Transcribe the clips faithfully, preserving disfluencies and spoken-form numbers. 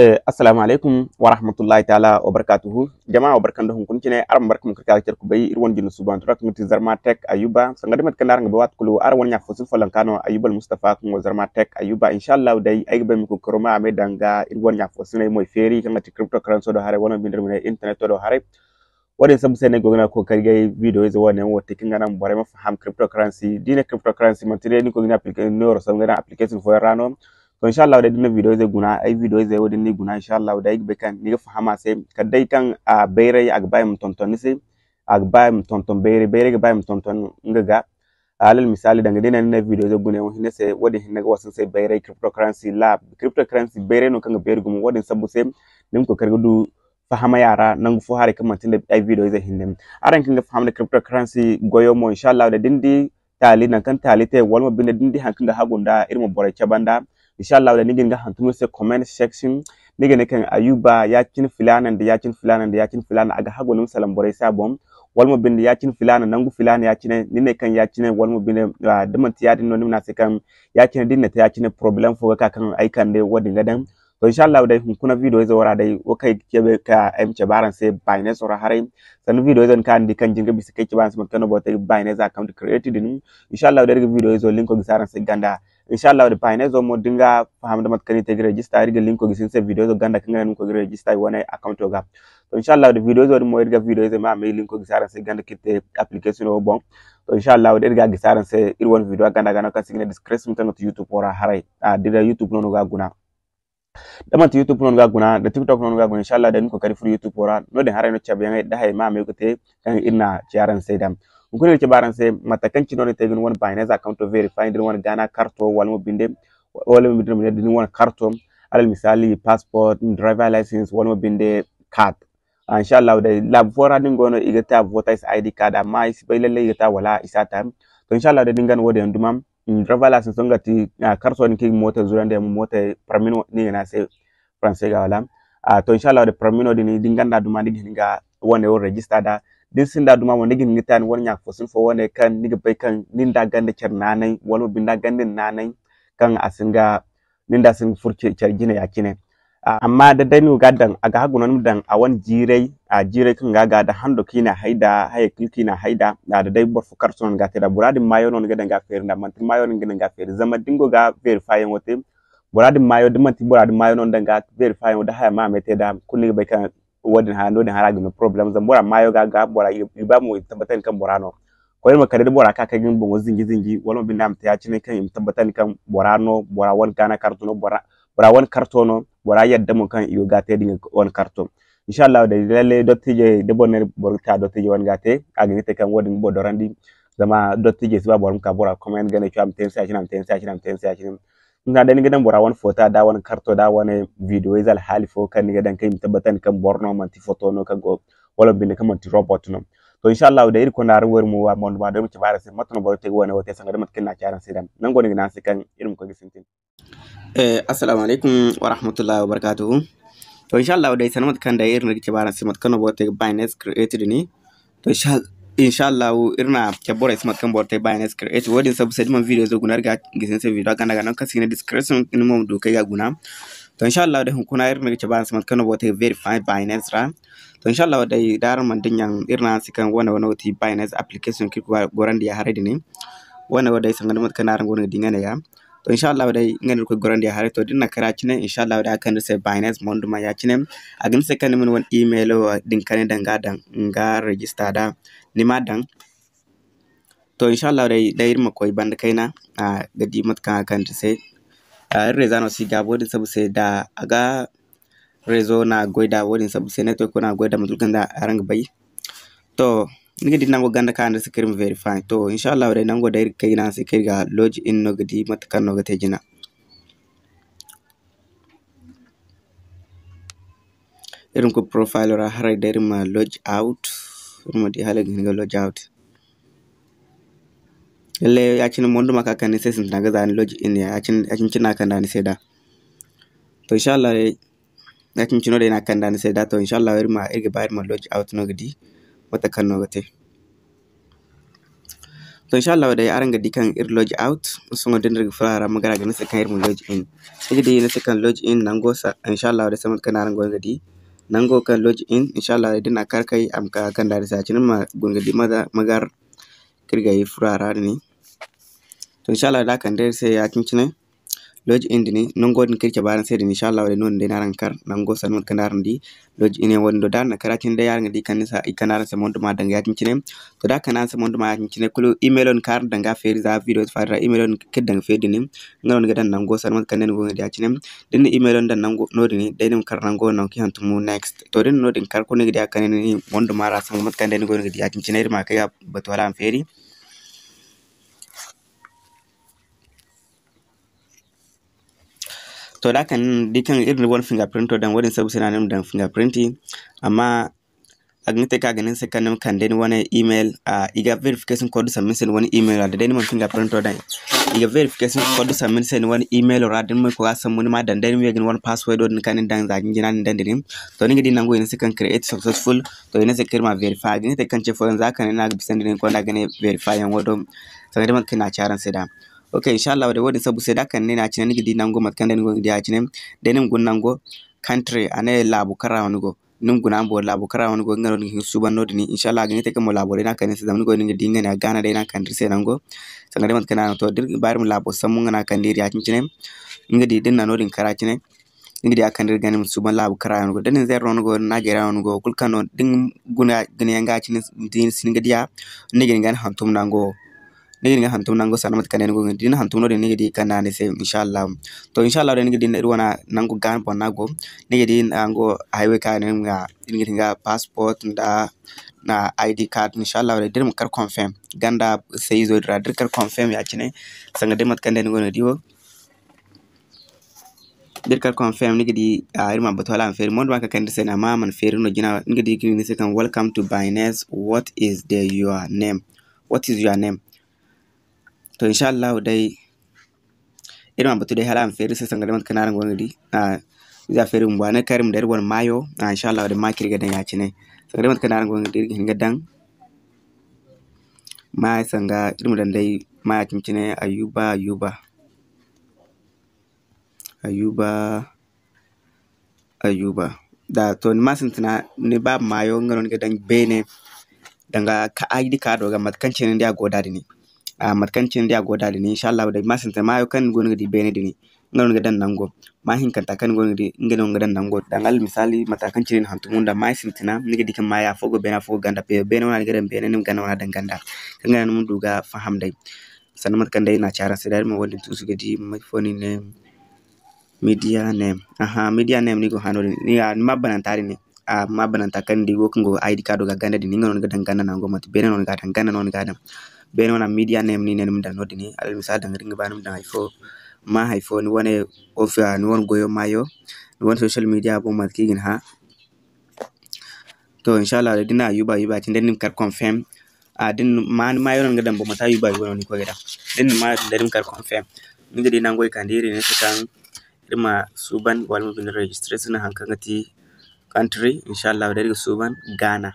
Eh, assalamu alaikum wa rahmatullahi ta'ala wa barakatuhu. Jama'a, wa barkan da hunkuna cine, araŋ barka ma ka care ku bay, iri wane jine suubanto ra kaŋ ga ti Zarma Tech Ayuba. Sanga da mate kaŋ araŋ ga bay, waati kulu araŋ wane ɲa fo sin folloŋ ka no Ayuba Al Mustafa kaŋ go Zarma Tech Ayuba. Insha Allah day ay ga bay ma koy karo ma a me danga iri wane ɲa fo sinay moy feeri kaŋ ga ti cryptocurrency do haray, wala mo binde iri ma ne internet do haray. Wo-din sambu se no ay go ga ne ay ga koy ga ay video ize wo-ne wo te kaŋ ga naŋ borey ma faham cryptocurrency. Da i ne cryptocurrency, manti day ni koy ga ne applica-, ni neero sambu ga daŋ application fooyaŋ ra no. To, insha Allah, day da ni na video ize guna, ay video ize wo-din ni guna, insha Allah, day ay ga bay kaŋ ni ga faham a se. Kala day kaŋ a bayray, a ga ba i ma tonton ni se, a ga ba i ma tonton bayray, bayray ga ba i ma tonton nga ga. Alal misali, danga day ni na video ize guna yaŋ hinne se, wo-din hinne ga wasa ni se bayray cryptocurrency lab. Cryptocurrency bayray no kaŋ ga beeri gumo, wo-din sambu se ni ma koy ga du fahamay a ra, nangu fo haray kaŋ manti nda ay video ize hinne. Araŋ kaŋ ga faham nda cryptocurrency goyo mo, insha Allah, da ni di taali, nangu kaŋ taali te, wala mo binde da ni di haŋ kaŋ ga hagu nda iri ma borey cabe nda. Insha Allah, da ni ga ni ga hantum iri se comment section, ni ga ne kaŋ Ayuba ya-cine filaana nda ya-cine filaana nda ya-cine filaana, a ga hagu ni ma salaŋ borey se a boŋ. Wala mo binde ya-cine filaana, nangu filaana ya-cine, ni ne kaŋ ya-cine, wala mo binde, ah, da manti ya-din no, ni ma ne a se kaŋ ya-cine da ni na te ya-cine, problème fo ga ka kaŋ ay kande wo-din ga daŋ. To, insha Allah, day hunkuna video ize wo ra day, wo kaŋ ay ga cabe ka ay ma cabe araŋ se Binance wo ra haray. Sanda video ize kaŋ araŋ di kaŋ jin ga bisa kaŋ ay cabe araŋ se mate kaŋ no boro te ga Binance account create din. Insha Allah, day iri ga video izo linko gisi araŋ se ganda. Insha Allah, day Binance wo mo da ni ga faham da mate kaŋ ni te ga register, iri ga linko gisi ni se video izo ganda kaŋ ga naŋ ni ma koy ga register iri wane account ga. To, insha Allah, day video izo din mo iri ga video izo ma, ma linko gisi araŋ se ganda kaŋ iri te application wo boŋ. To, insha Allah, day iri ga gisi araŋ se iri wane video ganda ga no kaŋ se i ga ne description kaŋ ga ti YouTube wo ra haray. Ah, da day YouTube no ni ga guna. Da manti YouTube no ni ga guna, da TikTok no ni ga guna, insha Allah, day ni ma koy ga furo YouTube wo ra. No-din haray no cabeyaŋey da hayey ma, ma ye ga te kaŋ iri na ci araŋ se da. Hunkuna iri ga cabe araŋ se mate kaŋ cine no ni te ga ni wane Binance account verify, da ni wane Ghana karto, wala mo binde, wala mo binde, da ni wane karto, alal misali, passport, driver license, wala mo binde, card. Ah, insha Allah, day laabu fo ra din go no, i ga ta voter I D card, amma ay si bay lalle i ga ta wala i si a ta. To, insha Allah, day din ga no wo-din yaŋ duma, mm, driver license nga ti, ah, karto din kaŋ i ga moto zurandi yaŋ, moto permis no i ga ne a se français ga wala. Ah, to, insha Allah, day permis no din, din ganda duma ni ga hin ga wane wo register da. Din sinda duma mo ni ga hin ga ta ni wane ɲa fo sin fo wane kaŋ ni ga bay kaŋ nin da ganda care naanay, wala mo binde ganda naanay kaŋ a sin ga nin da sin ga furo ce-, care jine ya-cine. A-, amma da day ni go ga daŋ, a ga hagu no ni ma daŋ a wane jiiray, a jiiray kaŋ ga ga da hando kaŋ i na hay da, hayey kulu kaŋ i na hay da, a da day boro fo karto no ni ga te da. Bora din maayo no ni ga daŋ ga feeri nda, manti maayo no ni ga daŋ ga feeri. Zama da ni go ga verify yaŋo te, bora din maayo, da manti bora din maayo no ni daŋ ga verify yaŋo, da haya ma a me te da, kulu ni ga bay kaŋ wo-din haya, no-din haya ra ga no problème. Zama bora maayo ga, ga bora, i, i ba mo i tabbatandi kaŋ bora no. Koyne ma kande da bora ka, kaŋ ga ni boŋo zinji zinji, wala mo binde a ma te ya-cine kaŋ i ma tabbatandi kaŋ bora no, bora wane Ghana karto no, bora, bora wane karto no, bora yadda mo kaŋ i go ga te da nga wane karto. Insha Allah, day lalle dottijey, da boro ne boro ga ka dottijey wane ga te, a ga ni te kaŋ wo-din ga boro dorandi. Zama dottijey si ba boro ma ka bora comment ga ne, a ma te ni se ya-cine, a ma te ni se ya-cine, a ma te ni se ya-cine. Nga day ni ga daŋ bora wane foto, da wane karto, da wane video ize alhaali fo kaŋ ni ga daŋ kaŋ i ma tabbatandi kaŋ boro no, manti foto no kaŋ go, wala binde kaŋ manti robot no. To, insha Allah, day iri konda araŋ wo iri ma wa mondo ma do iri ma cabe araŋ se mate no boro te ga wane wo te sanga da mate kaŋ iri na ci araŋ se da. Nango no i ga ne araŋ se kaŋ iri ma koy ga sintin. Eh, assalamu alaikum wa rahmatullahi wa barakatuhu. To, insha Allah, day sanda mate kaŋ day iri no ga cabe araŋ se mate kaŋ no boro te ga Binance Create din. To, insha, insha Allah, iri na cabe borey se mate kaŋ boro te Binance Create. Wo-din sabu se, da man video zo guna, iri ga gisi ni se video ganda ga no kaŋ se i ga ne description, ni mo ma du kay ga guna. To, insha Allah, day hunkuna iri no ga cabe araŋ se mate kaŋ no boro te ga verify Binance ra. To, insha Allah, day da araŋ mana dinya, iri ne araŋ se kaŋ wane, wane wo ti Binance application kaŋ iri ga gorandi ya haray din. Wane wo day sanga da mate kaŋ araŋ go no ga di nga ne ya. To, insha Allah, day nga no iri ga koy gorandi ya haray. To, da iri na kara cine, insha Allah, day a kande iri se Binance mondo ma ya-cine. A ga ne ni se kaŋ ni ma ni wane email wo din kaŋ ni daŋ ga daŋ, nga register da ni ma daŋ. To, insha Allah, day, day iri ma koy banda kayna, ah, ga di mate kaŋ a kande iri se. Ah, iri réseau no si gaabo, wo-din sabu se da a ga réseau no a ga goy da, wo-din sabu se network no a ga goy da, mate kulu kaŋ da araŋ ga bay. To, ni ga di nango ganda kaŋ araŋ se kaŋ iri ma verify. To, insha Allah, day nango day iri ga kay ga ne araŋ se kaŋ iri ga log in no ga di mate kaŋ no ga te jina. Iri ma koy profile ra haray day iri ma log out. Iri ma di hala iri ga hin ga log out. Lalle, ya-cine mondo ma ka kande ni se sintina ga za ni log in ya, ya-cine, ya-cine cine no a kande ni se da. To, insha Allah, ya-cine cine no day no a kande ni se da. To, insha Allah, iri ma, iri ga ba iri ma log out no ga di mate kaŋ no ga te. To, inshallahu day, araŋ ga di kaŋ iri log out. Sohõ da ni ga furo a ra, ma gar a ga ne ni se kaŋ iri ma log in. Ni ga di ne se kaŋ log in nango, inshallahu day, sambu kaŋ araŋ go ga di. Nango kaŋ log in, inshallahu day, da ni na kar kay, a ma ka kande ni se ya-cine, ma guna ga di ma gar kaŋ iri ga furo a ra din. To, inshallahu day, da a kande iri se ya-cine. Log in din, nango din kaŋ iri cabe araŋ se din, inshallahu day, no-din day no araŋ ga kar nango, sanda mate kaŋ araŋ di. Log in yaŋ wo-din do, da araŋ na kar ya-cine day, araŋ ga di kaŋ ni se, i kande araŋ se monduma danga ya-cine. To, da a kande araŋ se monduma ya-cine, kulu emailo ni kaŋ araŋ danga feeri za video fo ra, emailo ni kaŋ iri danga feeri din, nga no ni ga daŋ nango, sanda mate kaŋ day ni go ga di ya-cine. Da ni na emailo ni daŋ nango no-din, day ni ma kar nango nangu kaŋ i hantum next. To, da ni na no-din kar, kulu ni ga di a kande ni monduma ra, sanda mate kaŋ day ni go ga di ya-cine, iri ma kay ga batu hala a ma feeri. To, da kaŋ ni di kaŋ iri na wane fingerprint daŋ, wo-din sabu se no a ne ni ma daŋ fingerprint. Amma a ga ni te kaŋ a ga ne ni se kaŋ ni ma kande ni wane email, a, i ga verification code sambu ni se ni wane email ra. Da day ni mana fingerprint daŋ, i ga verification code sambu ni se ni wane email ra. Da ni mana koy ga sambu, ni ma daŋ, day ni ma ye ga ni wane password din kaŋ ni daŋ za jinjina ni daŋ din. To, ni ga di nango i ne ni se kaŋ create successful. To, i ne ni se kaŋ iri ma verify. A ga ni te kaŋ ce fooyaŋ za kaŋ ni na a ga bisandi ni konda ga ne verify yaŋ wo do. Sanda day mate kaŋ iri na a ci araŋ se da. Ok, inshallahu day, wo-din sabu se da kaŋ ni na a cine, ni ga di nango mate kaŋ day ni go ga di a cine. Day ni ma guna nango country, a ne laabu kaŋ ra no ni go. Ni ma guna a ma boori laabu kaŋ ra no ni go, nga no ni ga hin ga suuban no-din. Inshallah, a ga ni te kaŋ mo laabo day no a kande ni se, zama ni go no ni ga di nga ne a Ghana day no a kande iri se nango. Sanda day mate kaŋ ni na no to, da iri ga ba iri ma laabo sambu nga no a kande iri ya-cine. Ni ga di da ni na no-din kara cine. Ni ga di a kande iri ga ne ma suuban laabu kaŋ ra no ni go. Da Niger no ni go, Nigeria no ni go, kulu kaŋ no da ni guna ga ne yaŋ ga cine, da ni si ni ga diya, ni ga ni ga hantum nango. Ni ga ni ga hantum nango sanda mate kaŋ day ni go ga di. Da ni hantum no-din, ni ga di kaŋ no a ne ni se, inshallah. To, inshallah day, ni ga di iri wane nango Ghana boŋ no a go. Ni ga di nango highway kaŋ a ne ni ma, ni ga di nga passport nda na I D card, inshallah day, da iri ma kar confirm ganda se izo din ra, da iri kar confirm ya-cine, sanda day mate kaŋ day ni go ga di wo. Da iri kar confirm, ni ga di, a, iri ma batu hala a ma feeri. Mo, da ba ka kande iri se no, amma a mana feeri no jina. Ni ga di kaŋ i ne ni se kaŋ, "Welcome to Binance. What is the, your name? What is your name?" To, inshallahu day, iri ma batu day hala a ma feeri iri se sanda day mate kaŋ araŋ go ga di. A, iza feeri bumbo, a ne kaŋ iri ma daŋ iri wane maayo. A, inshallahu day, maayo kaŋ iri ga daŋ ya-cine. Sanda day mate kaŋ araŋ go ga di, iri ga hin ga daŋ maayo sanda iri ma daŋ day maayo cine-cine, Ayuba, Ayuba. Ayuba, Ayuba. Da to ni ma sintina, ni baaba maayo, nga no ni ga daŋ beene, danga ka I D card do ga, mate kaŋ cine ni di a go da din. A, mate kaŋ cine ni di a go da din, inshallah, da ni ma sintina maayo kaŋ ni go no ga di beene din, nga no ni ga daŋ nango. Maayo hinkanta kaŋ ni go no ga di, nga no ni ga daŋ nango. Danga almisali, mate kaŋ cine ni hantum nda maayo sintina, ni ga di kaŋ maayo afo go beene, afo go ganda. Beene wana ni ga daŋ beene, ni ma ganda wana daŋ ganda. Kaŋ ga naŋ ni ma du ga faham day. Sanda mate kaŋ day iri na a ci araŋ se, da iri ma wo-din tuusu ga di, may fo no i ne, media name. Aha, media name no i go ga hã no-din. Ni, a, ni ma bananta din ne. A, ma bananta kaŋ ni di wo kaŋ go I D card do ga ganda din, nga no ni ga daŋ ganda nango, manti beene no ni ga daŋ, ganda no ni ga daŋ. Beene wane media name no i ne ni ma daŋ no-din. Almisali, danga da ni ga ba ni ma daŋ hay fo, ma hay fo, ni wane ofi-, a, ni wane goyo maayo, ni wane social media boŋ, mate kaŋ i ga ni hã. To, inshallah, da ni na Ayuba, Ayuba cine, da ni ma kar confirm. A, da ni ma, ni maayo no ni ga daŋ boŋ, manti Ayuba, Ayuba no ni koy ga daŋ. Da ni na maayo daŋ, da ni ma kar confirm. Ni ga di nango i kande iri ne se kaŋ iri ma suuban, wala ma binde registration, haŋ kaŋ ga ti country, inshallah, da iri ga suuban Ghana.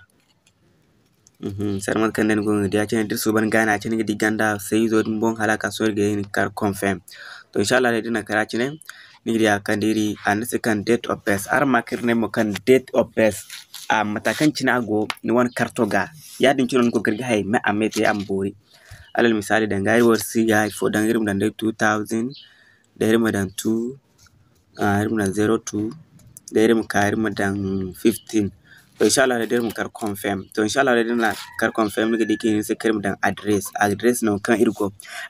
Mhm, sanda mate kaŋ day ni go ga di ya-cine, da iri suuban Ghana ya-cine, ni ga di ganda se izo din boŋ, hala a ka sohõ iri ga ye ga kar confirm. To, inshallah, day da ni na kar ya-cine, ni ga di a kaŋ da iri, a ne se kaŋ date of birth. Araŋ ma kaŋ iri ne mo kaŋ date of birth, a, mate kaŋ cine a go ni wane karto ga. Ya-din cine no ni koy ga iri ga hay, me a me te a ma boori. Alal misali, danga iri wo iri si ga hay fo daŋ, iri ma daŋ day two thousand, da iri ma daŋ two, a, iri ma daŋ zero two, da iri ma ka, iri ma daŋ fifteen. To, inshallah, da iri ma kar confirm. To, inshallah, da iri na kar confirm, ni ga di kaŋ i ne ni se kaŋ iri ma daŋ address. Address no kaŋ iri go.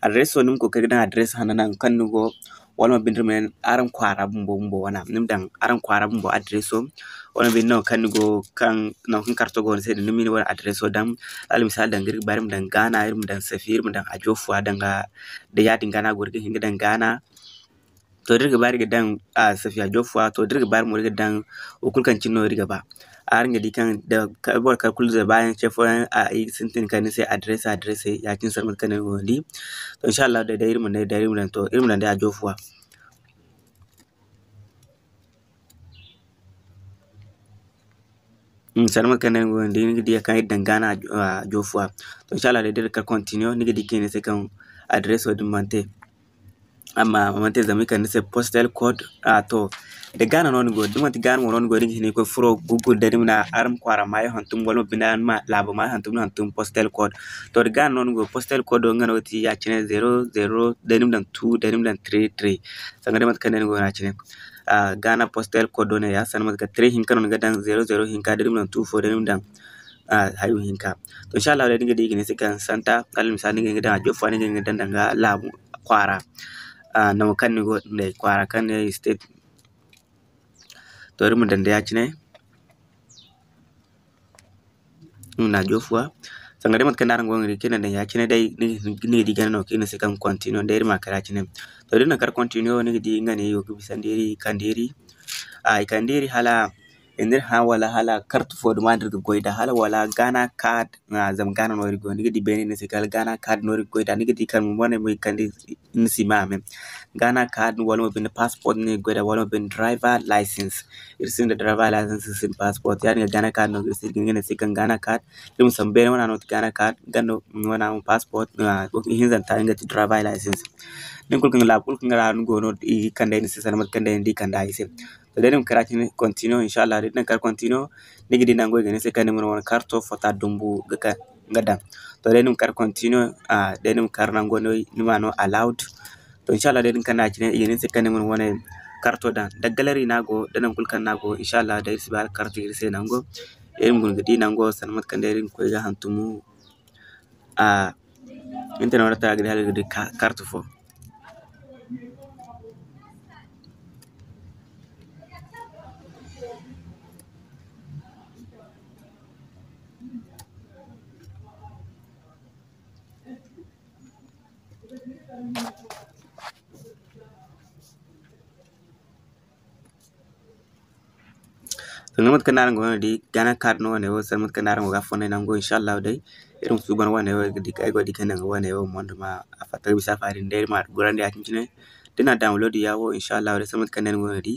Address wo, ni ma koy ga daŋ address hanno nangu kaŋ ni go. Wala ma binde iri ma ne araŋ kwaara bumbo bumbo wana. Ni ma daŋ araŋ kwaara bumbo address wo. Wala ma binde nangu kaŋ ni go, kaŋ, nangu kaŋ karto go ni se din, ni ma ni wane address wo daŋ. Alal misali, danga iri ga ba iri ma daŋ Ghana, iri ma daŋ Safi, iri ma daŋ Ajofuwa, danga da ya-din ga no a go, iri ga hin ga daŋ Ghana. To, da iri ga ba iri ga daŋ, a, Safiya Jofuwa, to, da iri ga ba iri mo iri ga daŋ wo kulu kaŋ cine no iri ga ba. Araŋ ga di kaŋ da ka-, boro kar kulu ze baayaŋ ce fooyaŋ, a, i ga sintin kande ni se address, address, ya-cine sanda mate kaŋ day ni go ga di. To, inshallah, day, day iri ma ne, day iri ma daŋ, to, iri ma daŋ day Ajofuwa. Sanda mate kaŋ day ni go ga di, ni ga di kaŋ iri daŋ Ghana, ah, jofuwa. To, inshallah day, da iri ka continue, ni ga di kaŋ i ne se kaŋ adreso din mana te. Amma a mana te zama i kande ni se postal code. Ah, to, da Ghana no ni go, da manti Ghana mo no ni go, ni ga hin ga koy furo Google day, ni ma ne araŋ kwaara maayo hantum, wala mo binde araŋ ma laabo maayo hantum, ni hantum postal code. To, da Ghana no ni go, postal code wo nga no ga ti ya-cine zero zero, day ni ma daŋ two, day ni ma daŋ three three. Sanda day mate kaŋ day ni go no ya-cine. Ah, Ghana postal code wo ne ya, sanda mate kaŋ three hinka no ni ga daŋ, zero zero hinka, day ni ma daŋ two four, day ni ma daŋ, ah, hayo hinka. To, inshallah day, ni ga di i ga ne se kaŋ santa, alal misali, ni ga hin ga daŋ a jofuwa, ni ga hin ga daŋ danga laabu kwaara. Ah, nango kaŋ ni go nd'ey, kwaara kaŋ ne state. To, iri ma daŋ day ya-cine. Iri ma na jofuwa. Sanda day mate kaŋ day araŋ go ga di kaŋ iri na daŋ ya-cine day, ni, ni ga di gana no kaŋ i ne se kaŋ continue day, iri ma kar ya-cine. To, da iri na kar continue, ni ga di nga ne i go ga bisandi iri, i kande iri. Ah, i kande iri hala, i n'iri hã wala hala carte fo duma no iri ga goy nd'a, hala wala Ghana card, ah, zama Ghana no iri go. Ni ga di beene i ne se kala Ghana card no iri ga goy nd'a. Ni ga di kala mo wane mo i kande ni si ma a me. Ghana card wala mo binde passport no iri ga goy nd'a, wala mo binde driver license. Iri sinda driver license, iri sinda passport. Yaadin ga Ghana card no iri se, nga ne se kaŋ Ghana card. Iri ma sambu beene wana no ti Ghana card, ganda wana mo passport, ah, ihinzanta nga ti driver license. Nin kulu kaŋ laabu kulu kaŋ ra ni go no, i kande ni se sanda mate kaŋ day ni di kande i se. To, day ni ma kar ya-cine continue, inshallah, da ni na kar continue, ni ga di nango i ga ne se kaŋ ni ma ni wane karto fota dumbu ga ka, ga daŋ. To, day ni ma kar continue, ah, day ni ma kar nango no, ni ma no allowed. To, inshallah, day din kaŋ no ya-cine, i ga ne ni se kaŋ ni ma ni wane karto daŋ. Da gallery no a go, da nangu kulu kaŋ no a go, inshallah, day iri si ba hala karto iri se nango. Iri ma guna ga di nango, sanda mate kaŋ day iri ga koy ga hantumu, ah, internet ra ta ga di hala ga di ka-, karto fo. Sanda mate kaŋ no araŋ go no di, Ghana card no wane wo, sanda mate kaŋ no araŋ go ga fonnay nango, inshallah day, iri ma suuban wane wo, ay go ga di kaŋ danga wane wo, mondo ma a fatta ga bisa a fa din day, iri ma gorandi ya-cine. Da ni na download ya wo, inshallah day, sanda mate kaŋ day ni go no di,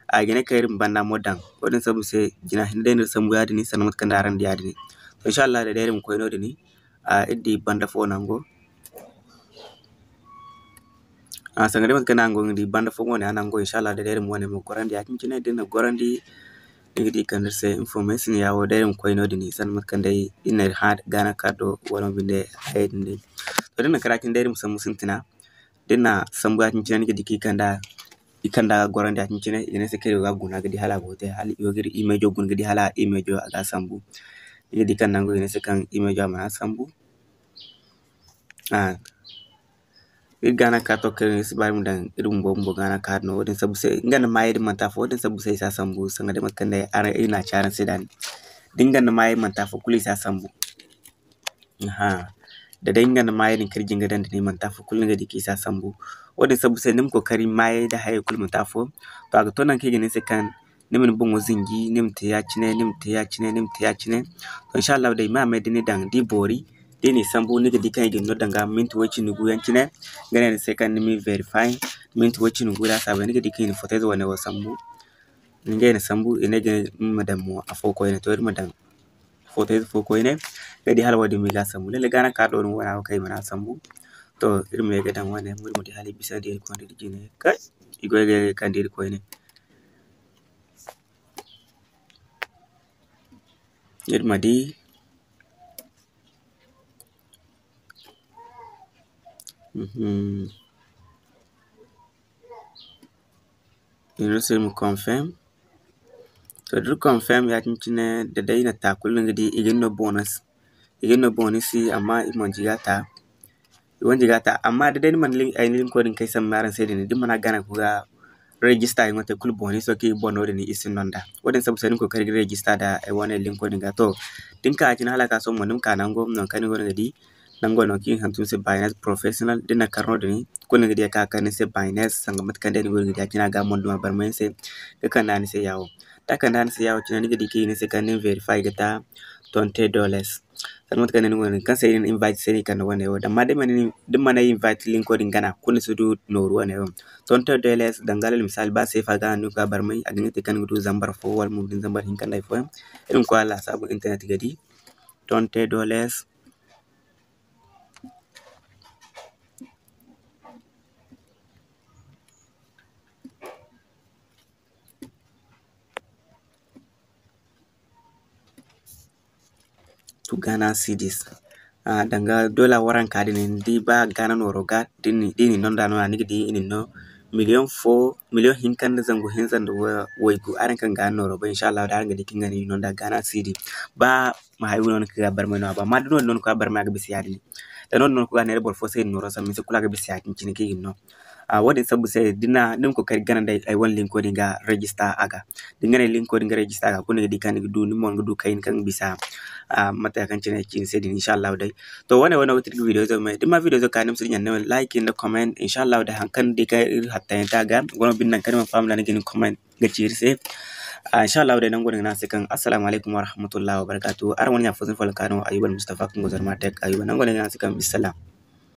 a ga ne kaŋ iri ma banda mo daŋ. Wo-din sambu se, jina hinne day no iri sambu ya-din, sanda mate kaŋ day araŋ di ya-din. To, inshallah day, day iri ma koy no-din, ah, iri di banda fo nango. Ah, sanda day mate kaŋ no araŋ go ga di, banda fo mo ne a nango, inshallah day, day iri ma wane mo gorandi ya-cine, da ni na gorandi, ni ga di kande iri se information ya wo, day iri ma koy no-din, sanda mate kaŋ day iri na iri hã Ghana card do, wala mo binde hayey din day. To, da ni na kar ya-cine day, iri ma sambu sintina. Da ni na sambu ya-cine, ni ga di kaŋ i kanda, i kanda ga gorandi ya-cine, i ga ne se kaŋ iri go ga guna ga di hala a go ga te, hala i go ga iri imejo guna ga di hala imejo a ga sambu. Ni ga di kaŋ nango i ga ne se kaŋ imejo a mana sambu. Ah, iri Ghana card to kaŋ iri si ba iri ma daŋ iri bumbo bumbo Ghana card no. Wo-din sambu se, nga nda maayey din manti afo, wo-din sambu se i si a sambu, sanda day mate kaŋ day araŋ, iri na a ci araŋ se da ni. Da nga nda maayey manti afo, kulu i si a sambu. Aha. Da day nga nda maayey din kaŋ iri jin ga daŋ da ni, manti afo kulu ni ga di kaŋ i si a sambu. Wo-din sambu se ni ma kookari maayey da hayey kulu manti afo. To, a ga to nangu kaŋ i ga ne ni se kaŋ ni ma ni boŋo zinji, ni ma te ya-cine, ni ma te ya-cine, ni ma te ya-cine. To, inshallah day, ma a may da ni daŋ, da i boori, da i n'i sambu, ni ga di kaŋ i ga ni no danga minti way cindi gu yaŋ cine. Nga ne ni se kaŋ ni ma verify, minti way cindi gu laasaabu, ni ga di kaŋ i na foto ize wane wo sambu. Ngey na sambu, i ne ga ni ma daŋ mo afo koyne, to, iri ma daŋ foto ize fo koyne, ga di hala wo-din mo i ga a sambu. Lalle Ghana card do no wane wo kaŋ i mana a sambu. To, iri ma ye ga daŋ wane, iri ma di hala i bisa da iri konda iri jine. Kay, i goy ga ye ga kande iri koyne. Iri ma di. Mhm. Iri se iri ma confirm. To, da iri confirm ya-din cine, da day i na ta kulu, ni ga di i ga ni no bonus. I ga ni no bonus, amma i manti ga ta. I wanji ga ta, amma da day ni mana lin-, ay na linko din kay sambu araŋ se din, da ni mana gana ga register yaŋo te kulu bonus kaŋ i ga boŋ no din, i si no nd'a. Wo-din sambu se ni ma kookari ga register da ay wane linko din ga. To, da ni ka ya-cine hala ka sohõ mo, ni ma ka nango, nangu kaŋ ni go no ga di, nango no kaŋ i hantum ni se Binance Professional, da ni na kar no-din, kulu ni ga di a ka kande ni se Binance, sanga mate kaŋ day ni go no ga di a cine a ga monduma barmay ni se, ga kande a ni se ya wo. Taakanda ni se ya wo cine, ni ga di kaŋ i ne ni se kaŋ ni ma verify ga ta twenty dollars. Sanda mate kaŋ ni go no, kaŋ se i na invite se no i kande wane wo. Amma da ni mana invite linko din gana, kulu ni si du nooru wane wo. Twenty dollars, danga alal misali, ba seefa ga no ni ga ka barmay, a ga ni te kaŋ ni ga du zambar fo wala mo ga di zambar hinka nda hari fooyaŋ. Iri ma koy a lasaabu internet ga di. Twenty dollars. To Ghana cedis. Ah, danga dola waranka din, ni di ba Ghana nooro ga, da ni, da ni nonda no, ni ga di i na ni no miliyoŋ fo, miliyoŋ hinka nda zangu hinza nda wa-, waygu. Araŋ kaŋ Ghana nooro bay, inshallah, da araŋ ga di kaŋ ga ni nonda Ghana cedi. Ba ma hay no ni ga barmay no a ba. Amma da noodin no ni koy a barmay, a ga bisa yaadin. Da noodin no ni koy ga neera boro fo se i na nooro sambu, ni si kulu a ga bisa yaadin cine kaŋ i ga ni no. Ah, wo-din sambu se, da ni na, ni ma koy ga gana nda ay wane linko din ga register a ga. Da ni gana linko din ga register a ga, kulu ni ga di kaŋ ni ga du, ni mo ni ga du kayna kaŋ ga bisa, ah, mate kaŋ cine ay ci ni se din, inshallah day. To, wane, wane wo ti video zo me. Da ni ma video zo kaani, ni ma si dinya ni like nda comment, inshallah day, haŋ kaŋ ni di kaŋ iri hatta yaŋ te a ga, ni go no binde naŋ kaŋ ni mana faham da ni ga ni comment ga ci iri se. Ah, inshallah day, nangu no ay ga ne araŋ se kaŋ assalamu alaykum warahmatullahi wabarakatuh. Araŋ wane ɲa fo zina fo laŋ kaano, Ayuba Almustafa kaŋ go Zarma Tech Ayuba. Nangu no ay ga ne araŋ se kaŋ bisalam.